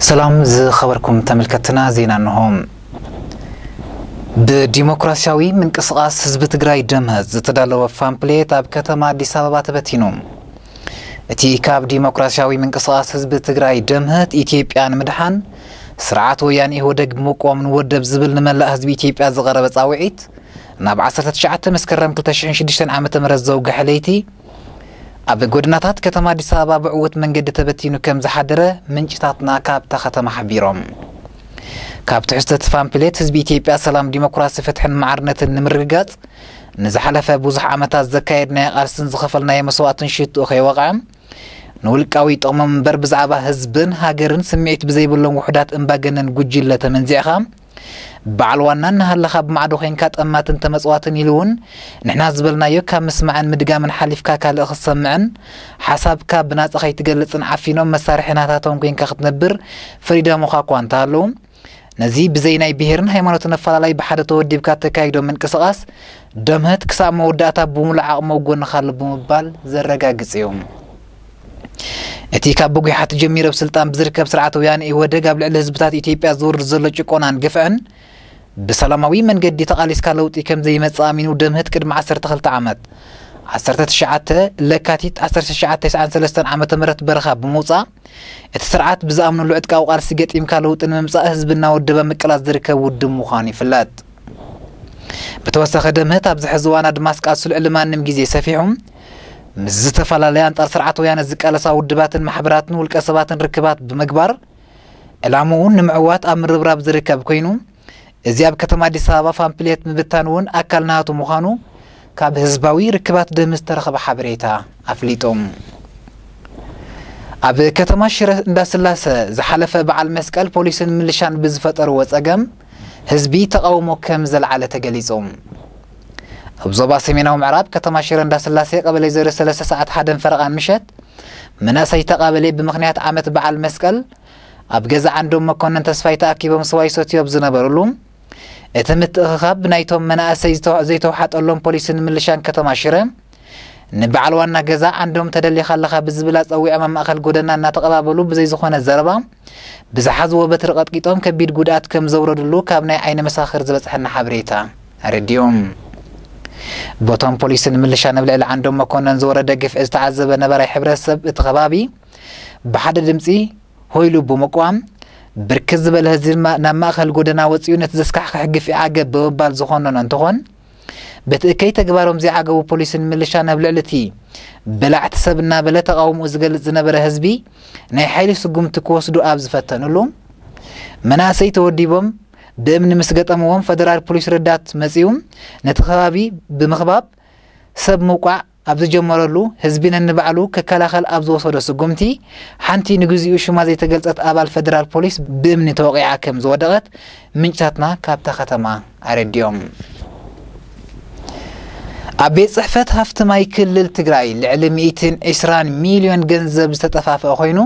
ሰላም ዝኸበርኩም ተመልከትና፣ ዜና እንሆ። ብዲሞክራሲያዊ ምንቅስቓስ ህዝቢ ትግራይ ደምህት ዝተዳለወ ፓምፕሌት ኣብ ከተማ ኣዲስ ኣበባ ተበቲኑ። እቲ ካብ ዲሞክራሲያዊ ምንቅስቓስ ህዝቢ ትግራይ ደምህት ኢትዮጵያ ንምድሓን ስርዓት ወያነ ኢህወደግ ብምቋም ንወደብ ዝብል ንመላእ ህዝቢ ኢትዮጵያ ዝቐረበ ጻውዒት፣ ናብ ዓሰርተ ትሽዓተ መስከረም ክልተ ሽሕን ሽዱሽተን ዓመተ ምህረት ዘውግሐ ለይቲ ኣብ ጎደናታት ከተማ ኣዲስ ኣበባ ብዕዉት መንገዲ ተበቲኑ ከም ዝሓደረ ምንጭታትና ካብታ ከተማ ሓቢሮም። ካብ ትሕዝቶ እቲ ፓምፕሌት፣ ህዝቢ ኢትዮጵያ ሰላም፣ ዲሞክራሲ፣ ፍትሕን ማዕርነትን ንምርግጋጽ ንዝሓለፈ ብዙሕ ዓመታት ዘካየድናዮ ቃልስን ዝኸፈልናዮ መስዋእትን ሽትኡ ከይወቕዐ፣ ንውልቃዊ ጥቕሞም እምበር ብዛዕባ ህዝብን ሃገርን ስምዒት ብዘይብሎም ውሑዳት እምባገነን ጉጅለ ተመንዚዕኻ፣ በዓል ዋና እናሃለኻ ብማዕዶ ኮይንካ ጠማትን ተመጽዋትን ኢሉ እውን ንሕና ዝበልናዮ ካብ ምስማዕን ምድጋምን ሓሊፍካ ካልእ ክትሰምዕን ሓሳብካ ብናጻ ከይትገልጽን ዓፊኖም መሳርሒ ናታቶም ኮይንካ ክትነብር ፈሪዶምኻ እኳ እንተሃለዉ፣ ነዚ ብዘይ ናይ ብሄርን ሃይማኖትን ኣፈላላይ ብሓደ ተወዲብካ እተካይዶ ምንቅስቓስ ደምህት ክሳብ መወዳእታ ብሙሉእ ዓቕሚ ኣብ ጎንኻ ኣሎ ብምባል ዘረጋግጽ እዩ። እቲ ካብ ብጉሓት ጀሚሩ ኣብ ስልጣን ብዝርከብ ስርዓት ወያነ ኢህወደግ ኣብ ልዕሊ ህዝብታት ኢትዮጵያ ዝወርድ ዘሎ ጭቆናን ግፍዕን ብሰላማዊ መንገዲ ተቓሊስካ ለውጢ ከም ዘይመጽእ ኣሚኑ ደምህት ቅድሚ ዓሰርተ ክልተ ዓመት ዓሰርተ ትሽዓተ ለካቲት ዓሰርተ ትሽዓተ ተስዓን ሰለስተን ዓመተ ምህረት በረኻ ብምውጻእ እቲ ስርዓት ብዝኣምነሉ ዕጥቃዊ ቃልሲ ገጢምካ ለውጢ ንምምጻእ ህዝቢ እናወደበ ምቅላስ ዝርከብ ውድብ ምዃኑ ይፍለጥ። ብተወሳኺ ደምህት ኣብዚ ሕዚ እዋን ኣድማስ ቃልሱ ልዕሊ ማንም ግዜ ሰፊሑ ምስ ዝተፈላለያ ኣንጻር ስርዓት ወያነ ዝቃለሳ ውድባትን ማሕበራትን ውልቀ ሰባትን ርክባት ብምግባር ዕላምኡ ንምዕዋት ኣብ ምርብራብ ዝርከብ ኮይኑ፣ እዚ ኣብ ከተማ ኣዲስ ኣበባ ፓምፕሌት ምብታን እውን ኣካል ናቱ ምዃኑ ካብ ህዝባዊ ርክባት ደምህት ዝተረኸበ ሓበሬታ ኣፍሊጡ። ኣብ ከተማ ሽረ እንዳስላሰ ዝሓለፈ በዓል መስቀል ፖሊስን ምልሻን ብዝፈጠርዎ ጸገም ህዝቢ ተቓውሞ ከም ዘልዓለ ተገሊጹ። ኣብ ዞባ ሰሜናዊ ምዕራብ ከተማ ሽረ እንዳስላሴ ቀበሌ ዜሮ ሰለስተ ሰዓት ሓደን ፈረቓን ምሸት መናእሰይ ተቓበሌ ብምኽንያት ዓመት በዓል መስቀል ኣብ ገዛ ዓንዶም መኮነን ተስፋይ ተኣኪቦም ስዋ ይሰትዩ ኣብ ዝነበሩሉ፣ እቲ ምትእኽኻብ ብናይቶም መናእሰይ ዝተው-፣ ዘይተውሓጠሎም ፖሊስን ምልሻን ከተማ ሽረ፣ ንበዓል ዋና ገዛ ዓንዶም ተደሊኻ ኣለኻ ብዝብል ኣጸዊዖም ኣብ ማእከል ጎደና እናተቐባበሉ ብዘይ ዝኾነ ዘረባ ብዝሓዝዎ በትሪ ቀጥቂጦም ከቢድ ጉድኣት ከም ዘውረድሉ ካብ ናይ ዓይኒ መሳኽር ዝበጽሐና ሓበሬታ ኣረዲኡ። ቦቶም ፖሊስን ምልሻን ኣብ ልዕሊ ዓንዶም መኮነን ዝወረደ ግፍዒ ዝተዓዘበ ነባራይ ሕብረተሰብ እቲ ከባቢ ብሓደ ድምጺ ሆይሉ ብምቋም፣ ብርክት ዝበለ ህዝቢ ማ-፣ ናብ ማእከል ጎደና ወጺኡ ነቲ ዘስካሕክሕ ግፍዒ ዓገብ ብምባል ዝኾነኖ እንትኾን፣ በቲ እከይ ተግባሮም ዘይዓገቡ ፖሊስን ምልሻን ኣብ ልዕሊ እቲ በላዕቲ ሰብ እናበለ ተቓውሞኡ ዝገልጽ ዝነበረ ህዝቢ ናይ ሓይሊ ስጉምቲ ክወስዱ ኣብ ዝፈተኑሉ፣ መናእሰይ ተወዲቦም ብእምኒ ምስ ገጠምዎም ፈደራል ፖሊስ ረዳት መጺኡ ነቲ ከባቢ ብምኽባብ ሰብ ምውቃዕ ኣብ ዝጀመረሉ፣ ህዝቢ ነንባዕሉ ክከላኸል ኣብ ዝወሰዶ ስጉምቲ፣ ሓንቲ ንግዚኡ ሽማ ዘይተገልጸት ኣባል ፈደራል ፖሊስ ብእምኒ ተወቒዓ ከም ዝወደቐት ምንጭታትና ካብታ ከተማ ኣረዲኦም። ኣብ ቤት ጽሕፈት ሃፍቲ ማይ ክልል ትግራይ ልዕሊ ሚእትን ዕስራን ሚልዮን ገንዘብ ዝተጠፋፍአ ኮይኑ፣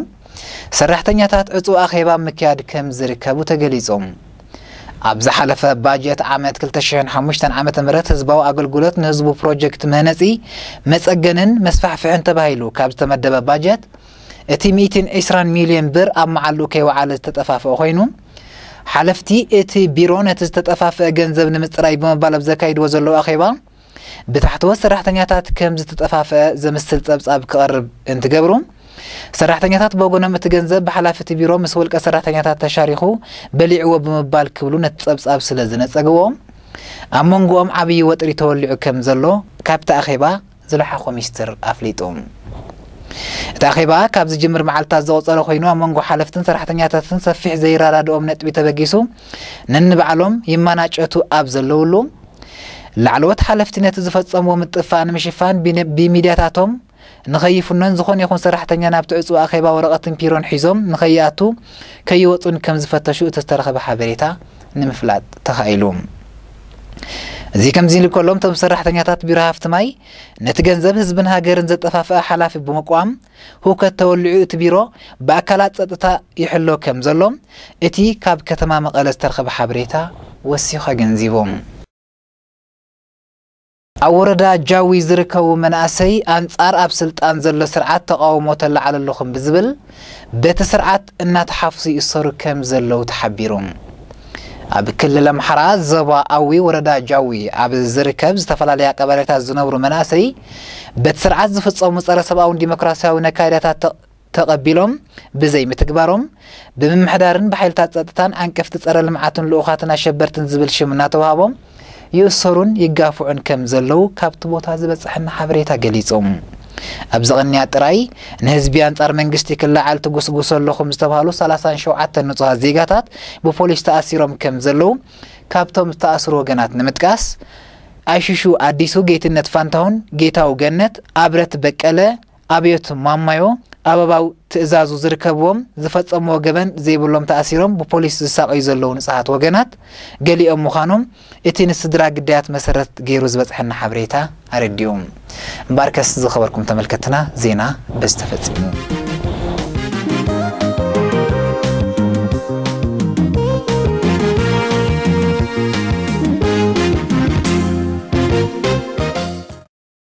ሰራሕተኛታት ዕጹው ኣኼባ ምክያድ ከም ዝርከቡ ተገሊጹ። ኣብ ዝሓለፈ ባጀት ዓመት ክልተ ሽሕን ሓሙሽተን ዓመተ ምህረት ህዝባዊ ኣገልግሎት ንህዝቡ ፕሮጀክት መህነጺ፣ መጸገንን መስፋሕፍሕን ተባሂሉ ካብ ዝተመደበ ባጀት፣ እቲ ሚእትን ዕስራን ሚልዮን ብር ኣብ መዓልኡ ከይወዓለ ዝተጠፋፍአ ኮይኑ፣ ሓለፍቲ እቲ ቢሮ ነቲ ዝተጠፋፍአ ገንዘብ ንምጽራይ ብምባል ኣብ ዘካይድዎ ዘለዉ ኣኼባ፣ ብታሕተዎት ሰራሕተኛታት ከም ዝተጠፋፍአ ዘምስል ጸብጻብ ክቐርብ እንትገብሩ፣ ሰራሕተኛታት ብወገኖም እቲ ገንዘብ ብሓላፊ እቲ ቢሮ ምስ ውልቀ ሰራሕተኛታት ተሻሪኹ በሊዕዎ ብምባል ክብሉ ነቲ ጸብጻብ ስለ ዝነጸግዎ፣ ኣብ መንጎኦም ዓብዪ ወጥሪ ተወሊዑ ከም ዘሎ ካብቲ ኣኼባ ዝለሓኾ ሚኒስትር ኣፍሊጡ። እቲ ኣኼባ ካብ ዝጅምር መዓልታት ዘቑጸረ ኮይኑ፣ ኣብ መንጎ ሓለፍትን ሰራሕተኛታትን ሰፊሕ ዘይረዳድኦም ነጥቢ ተበጊሱ፣ ነንባዕሎም ይመናጨቱ ኣብ ዘለውሉ፣ ላዕለዎት ሓለፍቲ ነቲ ዝፈጸምዎ ምጥፋእ ንምሽፋን ቢነ-፣ ብሚድያታቶም ንኸይፍኖን ዝኾነ ይኹን ሰራሕተኛ ናብቲ ዕጹው ኣኼባ ወረቐትን ፒሮን ሒዞም ንኸይኣቱ ከይወጹን ከም ዝፈተሹ እቲ ዝተረኸበ ሓበሬታ ንምፍላጥ ተኻኢሉ። እዚ ከምዚ ኢሉ ከሎ፣ እቶም ሰራሕተኛታት ቢሮ ሃፍቲ ማይ ነቲ ገንዘብ ህዝብን ሃገርን ዘጠፋፍአ ሓላፊ ብምቋም፣ ህውከት ተወሊዑ እቲ ቢሮ ብኣካላት ጸጥታ ይሕሎ ከም ዘሎ እቲ ካብ ከተማ መቐለ ዝተረኸበ ሓበሬታ ወሲኹ ኣገንዚቡ። ኣብ ወረዳ ጃዊ ዝርከቡ መናእሰይ ኣንጻር ኣብ ስልጣን ዘሎ ስርዓት ተቓውሞ ተለዓሉ ኣለኹም ብዝብል በቲ ስርዓት እናተሓፍሱ ይእሰሩ ከም ዘለዉ ተሓቢሩ። ኣብ ክልል ኣምሓራ ዞባ ኣዊ ወረዳ ጃዊ ኣብ ዝርከብ ዝተፈላለያ ቀበሌታት ዝነብሩ መናእሰይ በቲ ስርዓት ዝፍጸሙ ጸረ ሰብኣውን ዲሞክራሲያዊ ነካይዳታት ተ-፣ ተቐቢሎም ብዘይምትግባሮም ብምምሕዳርን ብሓይልታት ጸጥታን ዓንቀፍቲ ጸረ ልምዓትን ልኡኻትን ኣሸበርትን ዝብል ሽም እናተዋህቦም ይእሰሩን ይጋፍዑን ከም ዘለዉ ካብቲ ቦታ ዝበጽሐና ሓበሬታ ገሊጹ። ኣብዚ ቅንያ ጥራይ ንህዝቢ ኣንጻር መንግስቲ ክለዓል ትጉስጉሱ ኣለኹም ዝተባህሉ ሰላሳን ሸውዓተን ንጹሃት ዜጋታት ብፖሊስ ተኣሲሮም ከም ዘለዉ ካብቶም ዝተኣስሩ ወገናት ንምጥቃስ፣ ኣይሽሹ ኣዲሱ፣ ጌትነት ፋንታሁን፣ ጌታው ገነት፣ ኣብረት በቀለ፣ ኣብዮት ማማዮ፣ ኣበባው ትእዛዙ ዝርከብዎም ዝፈጸምዎ ገበን ዘይብሎም ተኣሲሮም ብፖሊስ ዝሳቐዩ ዘለዉ ንጹሃት ወገናት፣ ገሊኦም ምዃኖም እቲ ንስድራ ግዳያት መሰረት ገይሩ ዝበጽሐና ሓበሬታ ኣረዲኡ። እምበኣርከስ ዝኸበርኩም ተመልከትና፣ ዜና በዚ ተፈጺሙ።